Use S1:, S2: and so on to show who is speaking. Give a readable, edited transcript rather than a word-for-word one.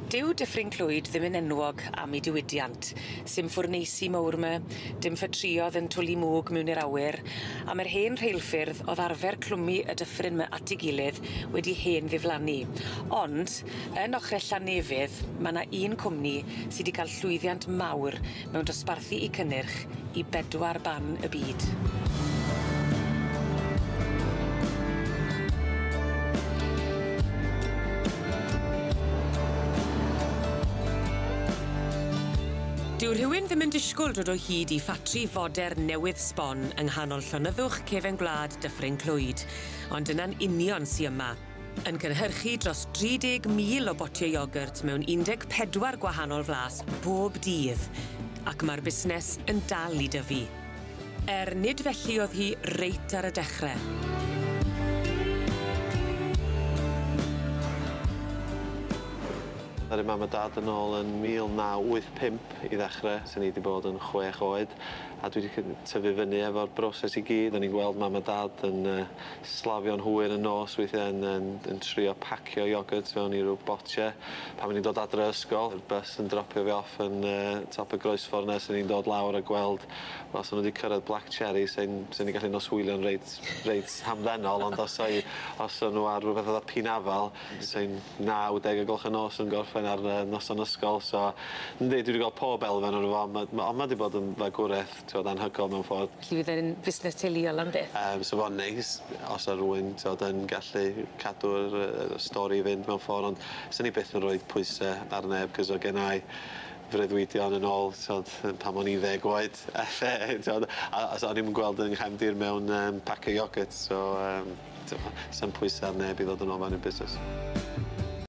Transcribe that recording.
S1: Dyw Dyffryn Clwyd ddim yn enwog am 'i diwydiant sim ffwrneisi mowr 'my dim ffatrïodd yn twli mwg mewn i'r awyr a my'r hen rheilffyrdd o'dd arfer clwmu y dyffryn 'my at 'i gilydd wedi hen ddiflannu ond yn ochre Llanefydd, ma' 'na un cwmni sy 'di ca'l llwyddiant mawr mewn dosbarthu 'u cynnyrch i bedwar ban y byd. Dyw rhywun ddim yn disgwl dod o hyd i ffatri fodern newydd sbon yng nghanol llonyddwch cefen gwlad Dyffryn Clwyd ond dyna'n union sy yma. Yn cynhyrchu dros 30,000 o botie iogyrt mewn 14 gwahanol flas bob dydd, ac ma'r busnes yn dal i dyfu. Er nid felly o'dd hi reit ar y dechre.
S2: Ddaru mam a dad yn ôl yn 1985 i ddechre, swn i 'di bod yn 6 oed a dwi 'di tyfu fyny efo'r broses i gyd. O'n i'n gweld mam a dad yn slafio'n hwyr yn nos weithie yn yn trio pacio iogyrt fewn i ryw botie. Pan o'n i'n dod adre o ysgol, y bus yn dropio fi off yn top y groesffor 'na swn i'n dod lawr a gweld wel sa nw 'di cyrraedd Black Cherry sai'n swn i'n gallu noswylio'n reit reit hamddenol ond os o'u os o'n nw ar rwbeth fatha pinafal sai'n 9, 10 o gloch y nos yn gorffen ar noson ysgol so yndi dwi 'di gweld pob elfen ono fo on' ma' 'di bod yn fagwreth t'wod anhygol mewn ffordd.
S1: Felly fydd e'n fusnes teuluol am byth?
S2: So fo'n neis os o' rywun t'wod yn gallu cadw'r stori i fynd mewn ffor ond swn i byth yn roid pwyse ar neb 'c'os o' gennai freuddwydion yn ôl t'wod yn pan o'n i'n 10 oed elle t'wod a so o'n i'm yn gweld 'yn nghefndir mewn pace iogyrt so t'mo' sa'm pwyse ar neb i ddod yn ôl mewn i'r busnes.